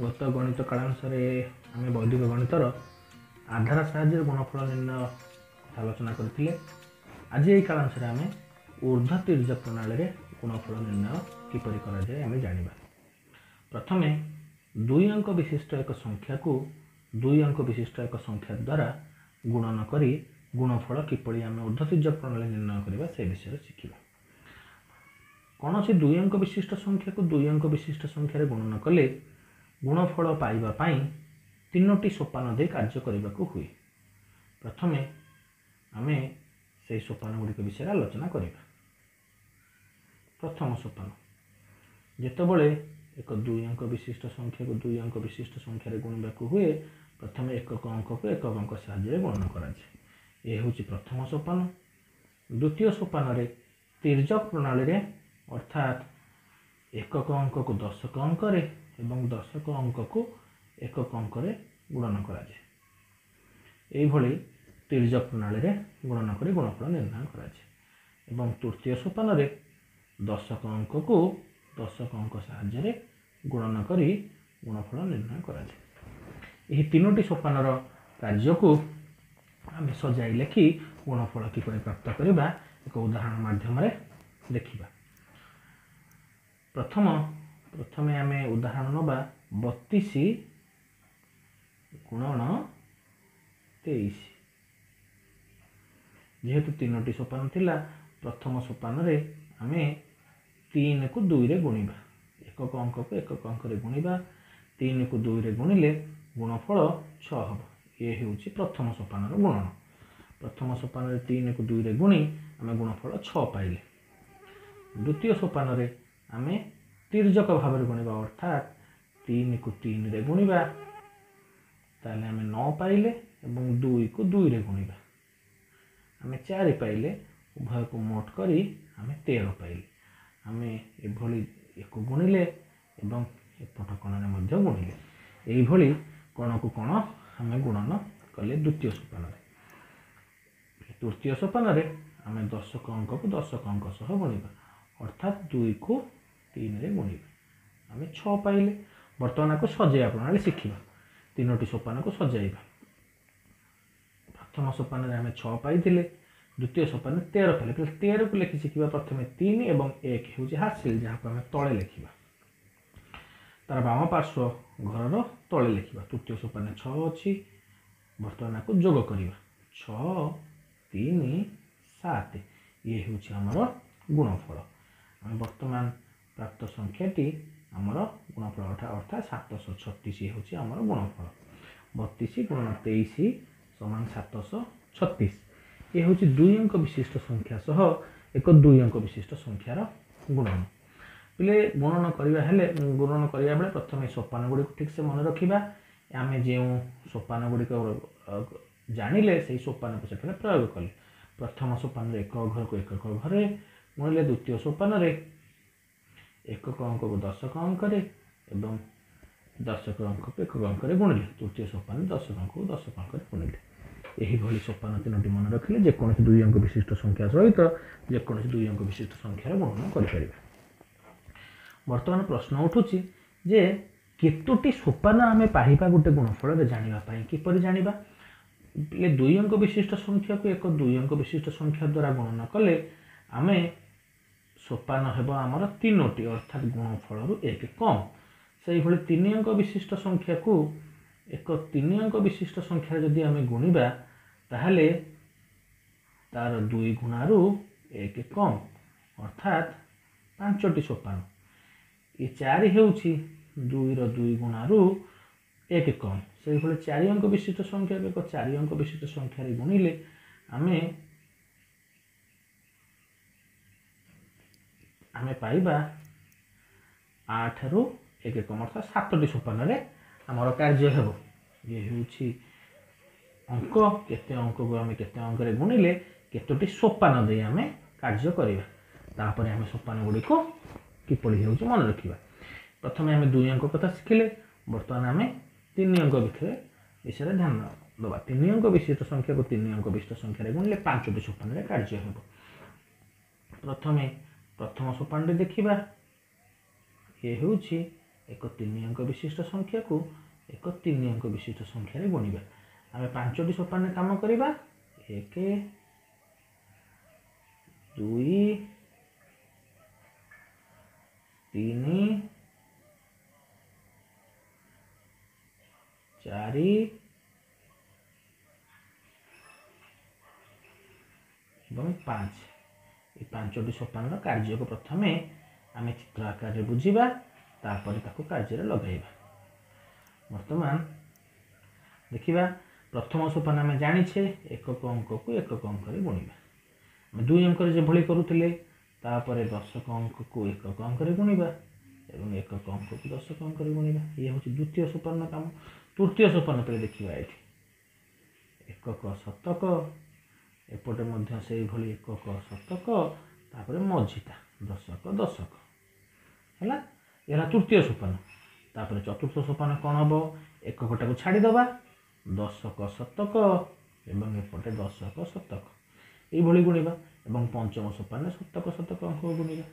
ଗତ ଗଣିତ କାଳାଂଶରେ ଆମେ ବୈଦିକ ଗଣିତର ଆଧାର ସାହାଯ୍ୟରେ ଗୁଣଫଳ ନିର୍ଣ୍ଣୟ କଥା ଆଲୋଚନା କରିଥିଲେ। ଆଜି ଏହି କାଳାଂଶରେ ଆମେ ଉର୍ଦ୍ଧ୍ୱ ତୀର୍ଯ୍ୟକ ପ୍ରଣାଳୀରେ ଗୁଣଫଳ ନିର୍ଣ୍ଣୟ କିପରି କରାଯାଏ ଆମେ ଜାଣିବା। ପ୍ରଥମେ ଦୁଇ ଅଙ୍କ ବିଶିଷ୍ଟ ଏକ ସଂଖ୍ୟାକୁ ଦୁଇ ଅଙ୍କ ବିଶିଷ୍ଟ ଏକ ସଂଖ୍ୟା ଦ୍ୱାରା ଗୁଣନ କରି ଗୁଣଫଳ କିପରି ଆମେ ଉର୍ଦ୍ଧ୍ୱ ତୀର୍ଯ୍ୟକ ପ୍ରଣାଳୀ ନିର୍ଣ୍ଣୟ କରିବା ସେ ବିଷୟରେ ଶିଖିବା। କୌଣସି ଦୁଇ ଅଙ୍କ ବିଶିଷ୍ଟ ସଂଖ୍ୟାକୁ ଦୁଇ ଅଙ୍କ ବିଶିଷ୍ଟ ସଂଖ୍ୟାରେ ଗୁଣନ କଲେ ଗୁଣଫଳ ପାଇବା ପାଇଁ ତିନୋଟି ସୋପାନ ଦେଇ କାର୍ଯ୍ୟ କରିବାକୁ ହୁଏ। ପ୍ରଥମେ ଆମେ ସେହି ସୋପାନ ଗୁଡ଼ିକ ବିଷୟରେ ଆଲୋଚନା କରିବା। ପ୍ରଥମ ସୋପାନ, ଯେତେବେଳେ ଏକ ଦୁଇ ଅଙ୍କ ବିଶିଷ୍ଟ ସଂଖ୍ୟାକୁ ଦୁଇ ଅଙ୍କ ବିଶିଷ୍ଟ ସଂଖ୍ୟାରେ ଗୁଣିବାକୁ ହୁଏ, ପ୍ରଥମେ ଏକକ ଅଙ୍କକୁ ଏକକ ଅଙ୍କ ସାହାଯ୍ୟରେ ଗୁଣନ କରାଯାଏ। ଏ ହେଉଛି ପ୍ରଥମ ସୋପାନ। ଦ୍ୱିତୀୟ ସୋପାନରେ ତୀର୍ଯ୍ୟକ ପ୍ରଣାଳୀରେ ଅର୍ଥାତ୍ ଏକକ ଅଙ୍କକୁ ଦଶକ ଅଙ୍କରେ ଏବଂ ଦଶକ ଅଙ୍କକୁ ଏକକ ଅଙ୍କରେ ଗୁଣନ କରାଯାଏ। ଏଇଭଳି ତୀର୍ଯ୍ୟକ ପ୍ରଣାଳୀରେ ଗୁଣନ କରି ଗୁଣଫଳ ନିର୍ଣ୍ଣୟ କରାଯାଏ। ଏବଂ ତୃତୀୟ ସୋପାନରେ ଦଶକ ଅଙ୍କକୁ ଦଶକ ଅଙ୍କ ସାହାଯ୍ୟରେ ଗୁଣନ କରି ଗୁଣଫଳ ନିର୍ଣ୍ଣୟ କରାଯାଏ। ଏହି ତିନୋଟି ସୋପାନର କାର୍ଯ୍ୟକୁ ଆମେ ସଜାଇ ଲେଖି ଗୁଣଫଳ କିପରି ପ୍ରାପ୍ତ କରିବା ଏକ ଉଦାହରଣ ମାଧ୍ୟମରେ ଦେଖିବା। ପ୍ରଥମେ ଆମେ ଉଦାହରଣ ନେବା 32 ଗୁଣନ 23। ଯେହେତୁ ତିନୋଟି ସୋପାନ ଥିଲା, ପ୍ରଥମ ସୋପାନରେ ଆମେ 3କୁ 2ରେ ଗୁଣିବା, ଏକକ ଅଙ୍କକୁ ଏକକ ଅଙ୍କରେ ଗୁଣିବା। 3କୁ 2ରେ ଗୁଣିଲେ ଗୁଣଫଳ 6 ହେବ। ଏ ହେଉଛି ପ୍ରଥମ ସୋପାନର ଗୁଣନ। ପ୍ରଥମ ସୋପାନରେ 3କୁ 2ରେ ଗୁଣି ଆମେ ଗୁଣଫଳ 6 ପାଇଲେ। ଦ୍ୱିତୀୟ ସୋପାନରେ ଆମେ ତୀର୍ଯ୍ୟକ ଭାବରେ ଗୁଣିବା, ଅର୍ଥାତ୍ 3କୁ 3ରେ ଗୁଣିବା, ତାହେଲେ ଆମେ 9 ପାଇଲେ। ଏବଂ 2କୁ 2ରେ ଗୁଣିବା, ଆମେ 4 ପାଇଲେ। ଉଭୟକୁ ମୋଟ କରି ଆମେ 13 ପାଇଲେ। ଆମେ ଏଭଳି ଏକୁ ଗୁଣିଲେ ଏବଂ ଏପଟ କୋଣରେ ମଧ୍ୟ ଗୁଣିଲେ। ଏଇଭଳି କୋଣକୁ କୋଣ ଆମେ ଗୁଣନ କଲେ ଦ୍ୱିତୀୟ ସୋପାନରେ। ତୃତୀୟ ସୋପାନରେ ଆମେ ଦଶକ ଅଙ୍କକୁ ଦଶକ ଅଙ୍କ ସହ ଗୁଣିବା, ଅର୍ଥାତ୍ 2କୁ 3ରେ ଗୁଣିବା, ଆମେ 6 ପାଇଲେ। ବର୍ତ୍ତମାନ ଆକୁ ସଜେଇବା ପ୍ରଣାଳୀ ଶିଖିବା। ତିନୋଟି ସୋପାନକୁ ସଜାଇବା। ପ୍ରଥମ ସୋପାନରେ ଆମେ 6 ପାଇଥିଲେ, ଦ୍ୱିତୀୟ ସୋପାନରେ 13 ପାଇଲେ। 13କୁ ଲେଖି ଶିଖିବା। ପ୍ରଥମେ 3 ଏବଂ 1 ହେଉଛି ହାସିଲ, ଯାହାକୁ ଆମେ ତଳେ ଲେଖିବା, ତାର ବାମ ପାର୍ଶ୍ୱ ଘରର ତଳେ ଲେଖିବା। ତୃତୀୟ ସୋପାନରେ 6 ଅଛି, ବର୍ତ୍ତମାନ ଆକୁ ଯୋଗ କରିବା, 6 3 7। ଇଏ ହେଉଛି ଆମର ଗୁଣଫଳ। ଆମେ ବର୍ତ୍ତମାନ ପ୍ରାପ୍ତ ସଂଖ୍ୟାଟି ଆମର ଗୁଣଫଳ ଅର୍ଥାତ୍ 736 ହେଉଛି ଆମର ଗୁଣଫଳ। 32 ଗୁଣନ 23 ସମାନ 736। ଏ ହେଉଛି ଦୁଇ ଅଙ୍କ ବିଶିଷ୍ଟ ସଂଖ୍ୟା ସହ ଏକ ଦୁଇ ଅଙ୍କ ବିଶିଷ୍ଟ ସଂଖ୍ୟାର ଗୁଣନ। ପିଲେ, ଗୁଣନ କରିବା ହେଲେ ଗୁଣନ କରିବା ବେଳେ ପ୍ରଥମେ ସୋପାନ ଗୁଡ଼ିକୁ ଠିକ୍ସେ ମନେ ରଖିବା। ଆମେ ଯେଉଁ ସୋପାନ ଗୁଡ଼ିକ ଜାଣିଲେ ସେଇ ସୋପାନକୁ ସେଠାରେ ପ୍ରୟୋଗ କଲେ। ପ୍ରଥମ ସୋପାନରେ ଏକ ଘରକୁ ଏକକ ଘରେ ଗୁଣିଲେ, ଦ୍ୱିତୀୟ ସୋପାନରେ ଏକକ ଅଙ୍କକୁ ଦଶକ ଅଙ୍କରେ ଏବଂ ଦଶକ ଅଙ୍କକୁ ଏକକ ଅଙ୍କରେ ଗୁଣିଲେ, ତୃତୀୟ ସୋପାନରେ ଦଶକ ଅଙ୍କକୁ ଦଶକ ଅଙ୍କରେ ଗୁଣିଲେ। ଏହିଭଳି ସୋପାନ ତିନୋଟି ମନେ ରଖିଲେ ଯେକୌଣସି ଦୁଇ ଅଙ୍କ ବିଶିଷ୍ଟ ସଂଖ୍ୟା ସହିତ ଯେକୌଣସି ଦୁଇ ଅଙ୍କ ବିଶିଷ୍ଟ ସଂଖ୍ୟାର ଗୁଣନ କରିପାରିବା। ବର୍ତ୍ତମାନ ପ୍ରଶ୍ନ ଉଠୁଛି ଯେ କେତୋଟି ସୋପାନ ଆମେ ପାଇବା ଗୋଟେ ଗୁଣଫଳରେ ଜାଣିବା ପାଇଁ କିପରି ଜାଣିବା? ଏ ଦୁଇ ଅଙ୍କ ବିଶିଷ୍ଟ ସଂଖ୍ୟାକୁ ଏକ ଦୁଇ ଅଙ୍କ ବିଶିଷ୍ଟ ସଂଖ୍ୟା ଦ୍ୱାରା ଗୁଣନ କଲେ ଆମେ ସୋପାନ ହେବ ଆମର ତିନୋଟି, ଅର୍ଥାତ୍ ଗୁଣଫଳରୁ 1 କମ୍। ସେଇଭଳି ତିନି ଅଙ୍କ ବିଶିଷ୍ଟ ସଂଖ୍ୟାକୁ ଏକ ତିନି ଅଙ୍କ ବିଶିଷ୍ଟ ସଂଖ୍ୟାରେ ଯଦି ଆମେ ଗୁଣିବା ତାହେଲେ ତାର 2 ଗୁଣାରୁ 1 କମ୍, ଅର୍ଥାତ୍ 5ଟି ସୋପାନ। ଏ 4 ହେଉଛି 2ର 2 ଗୁଣାରୁ 1 କମ୍। ସେଇଭଳି 4 ଅଙ୍କ ବିଶିଷ୍ଟ ସଂଖ୍ୟାକୁ ଏକ 4 ଅଙ୍କ ବିଶିଷ୍ଟ ସଂଖ୍ୟାରେ ଗୁଣିଲେ ଆମେ ପାଇବା 8ରୁ 1 କମ୍, ଅର୍ଥାତ୍ 7ଟି ସୋପାନରେ ଆମର କାର୍ଯ୍ୟ ହେବ। ଇଏ ହେଉଛି ଅଙ୍କ, କେତେ ଅଙ୍କକୁ ଆମେ କେତେ ଅଙ୍କରେ ଗୁଣିଲେ କେତୋଟି ସୋପାନ ଦେଇ ଆମେ କାର୍ଯ୍ୟ କରିବା। ତାପରେ ଆମେ ସୋପାନ ଗୁଡ଼ିକୁ କିପରି ହେଉଛି ମନେ ରଖିବା। ପ୍ରଥମେ ଆମେ ଦୁଇ ଅଙ୍କ କଥା ଶିଖିଲେ, ବର୍ତ୍ତମାନ ଆମେ ତିନି ଅଙ୍କ ବିଷୟରେ ଧ୍ୟାନ ଦେବା। ତିନି ଅଙ୍କ ବିଶିଷ୍ଟ ସଂଖ୍ୟାକୁ ତିନି ଅଙ୍କ ବିଶିଷ୍ଟ ସଂଖ୍ୟାରେ ଗୁଣିଲେ 5ଟି ସୋପାନରେ କାର୍ଯ୍ୟ ହେବ। ପ୍ରଥମେ ପ୍ରଥମ ସୋପାନଟି ଦେଖିବା। ଇଏ ହେଉଛି ଏକ 3 ଅଙ୍କ ବିଶିଷ୍ଟ ସଂଖ୍ୟାକୁ ଏକ 3 ଅଙ୍କ ବିଶିଷ୍ଟ ସଂଖ୍ୟାରେ ଗୁଣିବା। ଆମେ 5ଟି ସୋପାନରେ କାମ କରିବା। 1, 2, 3, 4 ଏବଂ 5। এই 5ଟି ସୋପାନର କାର୍ଯ୍ୟକୁ ପ୍ରଥମେ ଆମେ ଚିତ୍ର ଆକାରରେ ବୁଝିବା, ତାପରେ ତାକୁ କାର୍ଯ୍ୟରେ ଲଗାଇବା। ବର୍ତ୍ତମାନ ଦେଖିବା ପ୍ରଥମ ସୋପାନ ଆମେ ଜାଣିଛେ ଏକକ ଅଙ୍କକୁ ଏକକ ଅଙ୍କରେ ଗୁଣିବା। ଆମେ 2 ଅଙ୍କରେ ଯେଭଳି କରୁଥିଲେ, ତାପରେ ଦଶକ ଅଙ୍କକୁ ଏକକ ଅଙ୍କରେ ଗୁଣିବା ଏବଂ ଏକକ ଅଙ୍କକୁ ଦଶକ ଅଙ୍କରେ ଗୁଣିବା। ଇଏ ହେଉଛି ଦ୍ୱିତୀୟ ସୋପାନର କାମ। ତୃତୀୟ ସୋପାନ ପରେ ଦେଖିବା ଏଠି ଏକକ ଶତକ, ଏପଟେ ମଧ୍ୟ ସେଇଭଳି ଏକକ ଶତକ, ତାପରେ ମଝିଟା ଦଶକ ଦଶକ ହେଲା। ଏ ହେଲା ତୃତୀୟ ସୋପାନ। ତାପରେ ଚତୁର୍ଥ ସୋପାନ କ'ଣ ହେବ? ଏକକଟାକୁ ଛାଡ଼ିଦେବା, ଦଶକ ଶତକ ଏବଂ ଏପଟେ ଦଶକ ଶତକ, ଏଇଭଳି ଗୁଣିବା। ଏବଂ ପଞ୍ଚମ ସୋପାନରେ ଶତକ ଶତକ ଅଙ୍କ ଗୁଣିବା।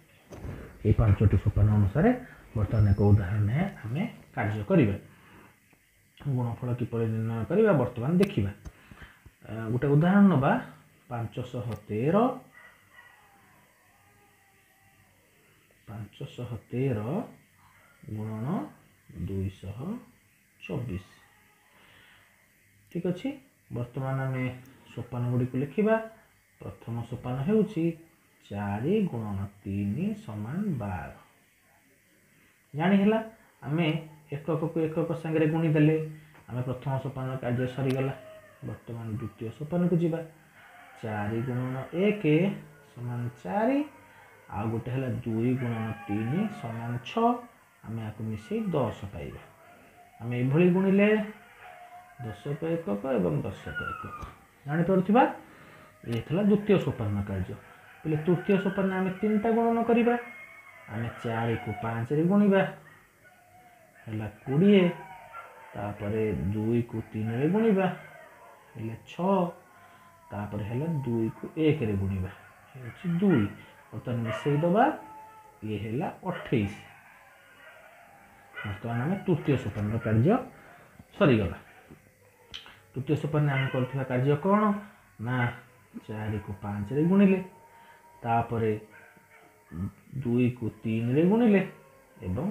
ଏଇ 5ଟି ସୋପାନ ଅନୁସାରେ ବର୍ତ୍ତମାନ ଏକ ଉଦାହରଣ ଆମେ କାର୍ଯ୍ୟ କରିବା। ଗୁଣଫଳ କିପରି ନିର୍ଣ୍ଣୟ କରିବା ବର୍ତ୍ତମାନ ଦେଖିବା। ଗୋଟେ ଉଦାହରଣ ନେବା। 513, 513 ଗୁଣନ 224। ଠିକ୍ ଅଛି, ବର୍ତ୍ତମାନ ଆମେ ସୋପାନ ଗୁଡ଼ିକୁ ଲେଖିବା। ପ୍ରଥମ ସୋପାନ ହେଉଛି 4 ଗୁଣନ 3 ସମାନ 12। ଜାଣି ହେଲା, ଆମେ ଏକକକୁ ଏକକ ସାଙ୍ଗରେ ଗୁଣିଦେଲେ ଆମେ ପ୍ରଥମ ସୋପାନ କାର୍ଯ୍ୟ ସରିଗଲା। ବର୍ତ୍ତମାନ ଦ୍ୱିତୀୟ ସୋପାନକୁ ଯିବା। 4 ଗୁଣନ 1 ସମାନ 4, ଆଉ ଗୋଟେ ହେଲା 2 ଗୁଣନ 3 ସମାନ 6। ଆମେ ଆକୁ ମିଶେଇ 10 ପାଇବା। ଆମେ ଏଭଳି ଗୁଣିଲେ ଦଶକ ଏକକ ଏବଂ ଦଶକ ଏକକ। ଜାଣିପାରୁଥିବା, ଇଏ ଥିଲା ଦ୍ୱିତୀୟ ସୋପାନ କାର୍ଯ୍ୟ। ବୋଲେ ତୃତୀୟ ସୋପାନରେ ଆମେ 3ଟା ଗୁଣନ କରିବା। ଆମେ 4କୁ 5ରେ ଗୁଣିବା, ହେଲା 20। ତାପରେ 2କୁ 3ରେ ଗୁଣିବା, ହେଲେ 6। ତାପରେ ହେଲା 2କୁ 1ରେ ଗୁଣିବା, ହେଉଛି 2। ବର୍ତ୍ତମାନ ମିଶେଇ ଦେବା, ଇଏ ହେଲା 28। ବର୍ତ୍ତମାନ ଆମେ ତୃତୀୟ ସୋପାନର କାର୍ଯ୍ୟ ସରିଗଲା। ତୃତୀୟ ସୋପାନରେ ଆମେ କରୁଥିବା କାର୍ଯ୍ୟ କ'ଣ ନା 4କୁ 5ରେ ଗୁଣିଲେ, ତାପରେ 2କୁ 3ରେ ଗୁଣିଲେ ଏବଂ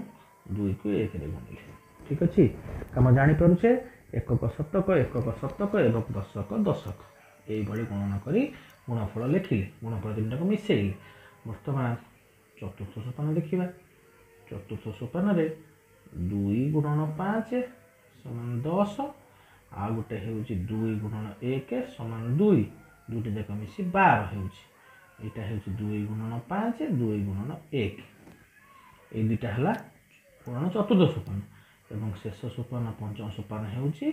2କୁ 1ରେ ଗୁଣିଲେ। ଠିକ୍ ଅଛି, କାମ ଜାଣିପାରୁଛେ। ଏକକ ଶତକ, ଏକକ ଶତକ ଏବଂ ଦଶକ ଦଶକ, ଏଇଭଳି ଗୁଣନ କରି ଗୁଣଫଳ ଲେଖିଲେ, ଗୁଣଫଳ 3ଟାକୁ ମିଶେଇଲେ। ବର୍ତ୍ତମାନ ଚତୁର୍ଥ ସୋପାନ ଦେଖିବା। ଚତୁର୍ଥ ସୋପାନରେ 2 ଗୁଣନ 5 ସମାନ 10, ଆଉ ଗୋଟେ ହେଉଛି 2 ଗୁଣନ 1 ସମାନ 2, ଦୁଇଟା ଯାକ ମିଶି 12 ହେଉଛି। ଏଇଟା ହେଉଛି 2 ଗୁଣନ 5, 2 ଗୁଣନ 1, ଏଇ ଦୁଇଟା ହେଲା ଗୁଣନ ଚତୁର୍ଥ ସୋପାନ। ଏବଂ ଶେଷ ସୋପାନ ପଞ୍ଚମ ସୋପାନ ହେଉଛି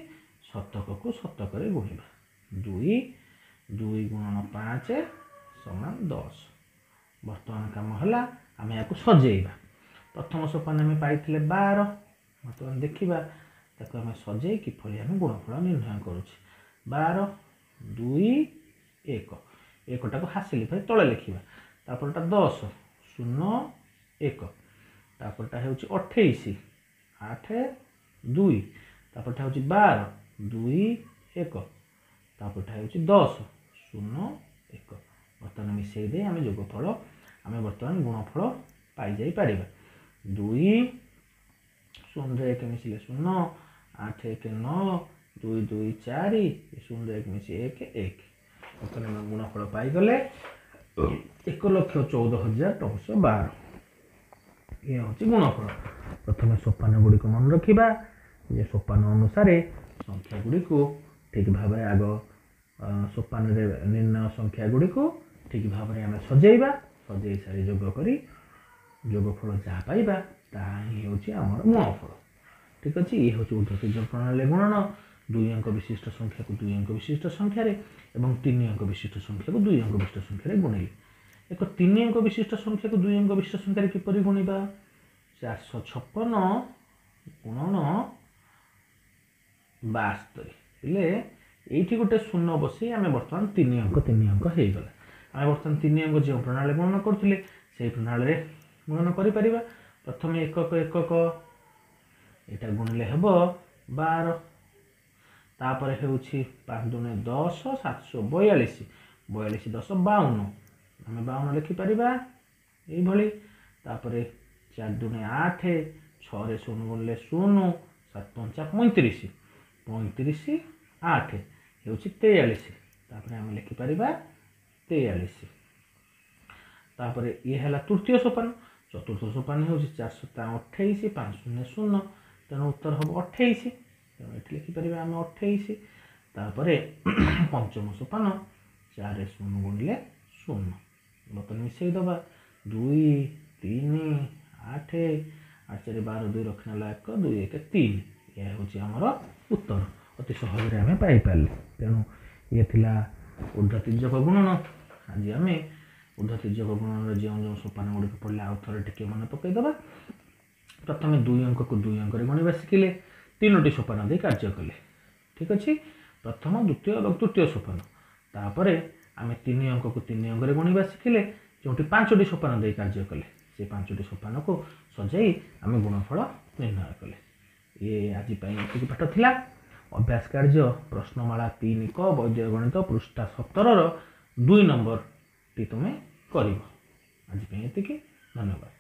ଶତକକୁ ଶତକରେ ଗୁଣିବା। 2, 2 ଗୁଣନ 5 ସମାନ 10। ବର୍ତ୍ତମାନ କାମ ହେଲା ଆମେ ଏହାକୁ ସଜେଇବା। ପ୍ରଥମ ସୋପାନ ଆମେ ପାଇଥିଲେ 12। ବର୍ତ୍ତମାନ ଦେଖିବା ତାକୁ ଆମେ ସଜେଇ କିପରି ଆମେ ଗୁଣଫଳ ନିର୍ଣ୍ଣୟ କରୁଛେ। 12, 2, 1, ଏକଟାକୁ ହାସିଲ କରି ତଳେ ଲେଖିବା। ତାପରଟା 10, 0, 1, ତାପରଟା ହେଉଛି 28, 8, 2, ତାପରଟା ହେଉଛି 12, 2, 1, ତାପରଟା ହେଉଛି 10, 0, 1। ବର୍ତ୍ତମାନ ମିଶେଇ ଦେଇ ଆମେ ଯୋଗଫଳ, ଆମେ ବର୍ତ୍ତମାନ ଗୁଣଫଳ ପାଇଯାଇପାରିବା। 2, 0 1 ମିଶିଲେ 0, 8 1 9, 2 2 4, 0 1 ମିଶି 1 1। ବର୍ତ୍ତମାନ ଆମେ ଗୁଣଫଳ ପାଇଗଲେ 1,14,912। ଇଏ ହେଉଛି ଗୁଣଫଳ। ପ୍ରଥମେ ସୋପାନ ଗୁଡ଼ିକୁ ମନେ ରଖିବା ଯେ ସୋପାନ ଅନୁସାରେ ସଂଖ୍ୟା ଗୁଡ଼ିକୁ ଠିକ୍ ଭାବରେ ଆଗ ସୋପାନରେ ନିର୍ଣ୍ଣୟ ସଂଖ୍ୟା ଗୁଡ଼ିକୁ ଠିକ୍ ଭାବରେ ଆମେ ସଜେଇବା। ସଜେଇ ସାରି ଯୋଗ କରି ଯୋଗଫଳ ଯାହା ପାଇବା ତାହା ହିଁ ହେଉଛି ଆମର ଗୁଣଫଳ। ଠିକ୍ ଅଛି, ଇଏ ହେଉଛି ଉର୍ଦ୍ଧ୍ୱ ପ୍ରଣାଳୀ ଗୁଣନ। 2 ଅଙ୍କ ବିଶିଷ୍ଟ ସଂଖ୍ୟାକୁ 2 ଅଙ୍କ ବିଶିଷ୍ଟ ସଂଖ୍ୟାରେ ଏବଂ 3 ଅଙ୍କ ବିଶିଷ୍ଟ ସଂଖ୍ୟାକୁ 2 ଅଙ୍କ ବିଶିଷ୍ଟ ସଂଖ୍ୟାରେ ଗୁଣିଲେ। ଏକ 3 ଅଙ୍କ ବିଶିଷ୍ଟ ସଂଖ୍ୟାକୁ 2 ଅଙ୍କ ବିଶିଷ୍ଟ ସଂଖ୍ୟାରେ କିପରି ଗୁଣିବା? 456 ଗୁଣନ 72। ହେଲେ ଏଇଠି ଗୋଟେ ଶୂନ ବସେଇ ଆମେ ବର୍ତ୍ତମାନ 3 ଅଙ୍କ 3 ଅଙ୍କ ହେଇଗଲା। ଆମେ ବର୍ତ୍ତମାନ 3 ଅଙ୍କ ଯେଉଁ ପ୍ରଣାଳୀ ଗୁଣନ କରୁଥିଲେ ସେଇ ପ୍ରଣାଳୀରେ ଗୁଣନ କରିପାରିବା। ପ୍ରଥମେ ଏକକ ଏକକ ଏଇଟା ଗୁଣିଲେ ହେବ 12। ତାପରେ ହେଉଛି 5 ଦୁଣେ 10, 742, 42 10 52, ଆମେ 52 ଲେଖିପାରିବା ଏଇଭଳି। ତାପରେ 4 ଦୁଣେ 8, 6ରେ 0 ଗୁଣିଲେ 0, 7 ପଞ୍ଚା 35, 35 8 ହେଉଛି 43। ତାପରେ ଆମେ ଲେଖିପାରିବା 43। ତାପରେ ଇଏ ହେଲା ତୃତୀୟ ସୋପାନ। ଚତୁର୍ଥ ସୋପାନ ହେଉଛି 4 ସତା 28, 5 0 0, ତେଣୁ ଉତ୍ତର ହେବ 28। ତେଣୁ ଏଠି ଲେଖିପାରିବା ଆମେ 28। ତାପରେ ପଞ୍ଚମ ସୋପାନ 4 0 ଗୁଣିଲେ 0। ବର୍ତ୍ତମାନ ମିଶାଇ ଦେବା 2 3 8, 8 4 12, 2 ରଖିନେଲା 1, 2 1 3। ଏହା ହେଉଛି ଆମର ଉତ୍ତର, ଅତି ସହଜରେ ଆମେ ପାଇପାରିଲେ। ତେଣୁ ଇଏ ଥିଲା ଉର୍ଦ୍ଧ୍ୱ ତିର୍ଯ୍ୟକ ଗୁଣନ। ଆଜି ଆମେ ଉର୍ଦ୍ଧ୍ୱ ତିର୍ଯ୍ୟକ ଗୁଣନର ଯେଉଁ ଯେଉଁ ସୋପାନ ଗୁଡ଼ିକ ପଡ଼ିଲେ ଆଉ ଥରେ ଟିକେ ମନେ ପକାଇଦେବା। ପ୍ରଥମେ 2 ଅଙ୍କକୁ 2 ଅଙ୍କରେ ଗଣିବା ଶିଖିଲେ, 3ଟି ସୋପାନ ଦେଇ କାର୍ଯ୍ୟ କଲେ। ଠିକ୍ ଅଛି, ପ୍ରଥମ, ଦ୍ୱିତୀୟ ଏବଂ ତୃତୀୟ ସୋପାନ। ତାପରେ ଆମେ 3 ଅଙ୍କକୁ 3 ଅଙ୍କରେ ଗଣିବା ଶିଖିଲେ, ଯେଉଁଠି 5ଟି ସୋପାନ ଦେଇ କାର୍ଯ୍ୟ କଲେ। ସେ 5ଟି ସୋପାନକୁ ସଜାଇ ଆମେ ଗୁଣଫଳ ନିର୍ଣ୍ଣୟ କଲେ। ଇଏ ଆଜି ପାଇଁ ଏତିକି ପାଠ ଥିଲା। ଅଭ୍ୟାସ କାର୍ଯ୍ୟ ପ୍ରଶ୍ନମାଳା 3 କ ବୈଦିକ ଗଣିତ ପୃଷ୍ଠା 17ର 2 ନମ୍ବରଟି ତୁମେ କରିବ। ଆଜି ପାଇଁ ଏତିକି, ଧନ୍ୟବାଦ।